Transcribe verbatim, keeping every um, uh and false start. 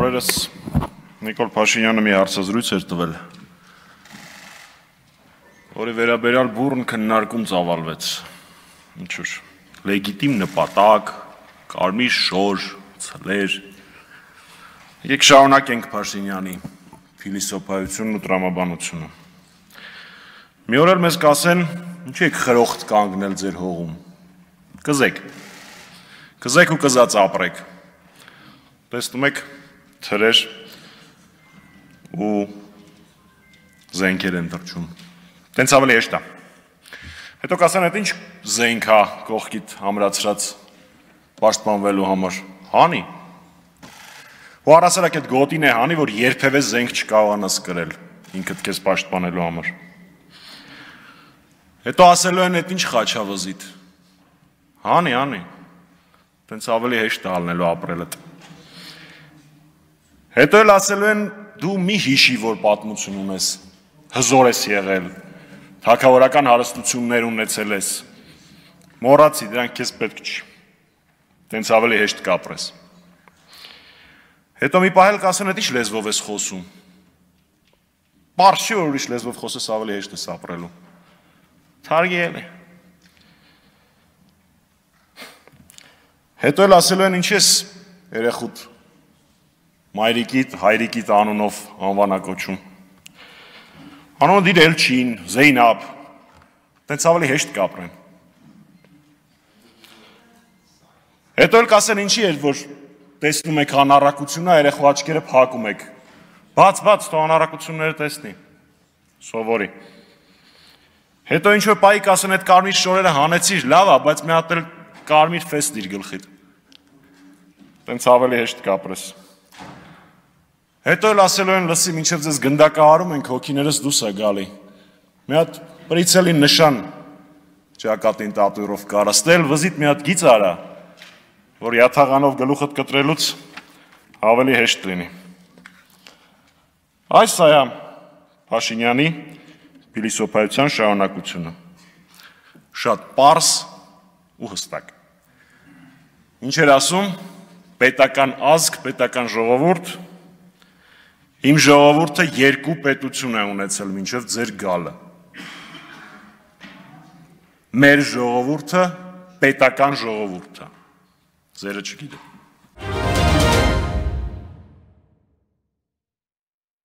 Օրերս Նիկոլ Փաշինյանը մի հարցազրույց էր տվել, որի վերաբերյալ բուռն քննարկում ծավալվեց, ինչ-որ լեգիտիմ նպատակ, կարմիր շոր, ցլեր։ Եկեք շարունակենք Փաշինյանի փիլիսոփայությունն ու տրամաբանությունը։ Մի օր էլ մեզ կասեն, ինչու եք խրոխտ կանգնել ձեր հողում։ Կզեք։ Կզեք ու կզած ապրեք։ Տեսնում եք թրեր ու զենքեր են թռչում։ Տենց ավելի հեշտ է։ Հետո կասեն, այդ ինչ զենք է կողքիդ ամրացրած պաշտպանվելու համար։ Հանի։ Ու առասարակ այդ գոտին է հանի, որ երբևէ զենք չկարողանաս կրել ինքդ քեզ պաշտպանելու համար։ Հետո ասելու են, այդ ինչ խաչավզիդ։ Հանի, հանի։ Տենց ավելի հեշտ է ալնելու ապրելդ։ Հետո էլ ասելու են, դու մի հիշի, որ պատմություն ունես, հզոր ես եղել, թագավորական հարստություններ ունեցել ես, մոռացի, դրանք քեզ պետք չի, տենց ավելի հեշտ կապրես։ Հետո մի պահ էլ կասեն, այդ ինչ լեզվով ես խոսում, պարզ չի, որ ուրիշ լեզվով խոսես ավելի հեշտ ես ապրելու, թարգել է։ Հետո էլ ասելու են, ինչ ես երեխուդ մայրիկիդ, հայրիկիդ անունով անվանակոչում։ Անունը դիր Էլչին, Զեյնաբ, տենց ավելի հեշտ կապրեն։ Հետո էլ կասեն ինչի էր, որ տեսնում եք անառակությունա, երեխու աչքերը փակում եք։ Բաց, բաց, թող անառակությունները տեսնի, սովորի։ Հետո ինչ-որ պահի կասեն, այդ կարմիր շորերը հանեցիր, լավ է, բայց մի հատ էլ կարմիր ֆես դիր գլխիդ։ Տենց ավելի հեշտ կապրես։ Հետո էլ ասելու են, լսի, մինչև ձեզ գնդակահարում ենք, հոգիներս դուս է գալի։ Մի հատ պրիցելի նշան ճակատին տատուիրով կարա, ստել վզիտ մի հատ գիծ արա, որ յաթաղանով գլուխդ կտրելուց ավելի հեշտ լինի։ Այս այա Փաշինյանի փիլիսոփայության շարունակությունը։ Շատ պարզ ու հստակ։ Ինչ էր ասում, պետական ազգ, պետական ժողովուրդ, իմ ժողովուրդը երկու պետություն է ունեցել մինչև ձեր գալը։ Մեր ժողովուրդը պետական ժողովուրդ է, ձերը չգիտեմ։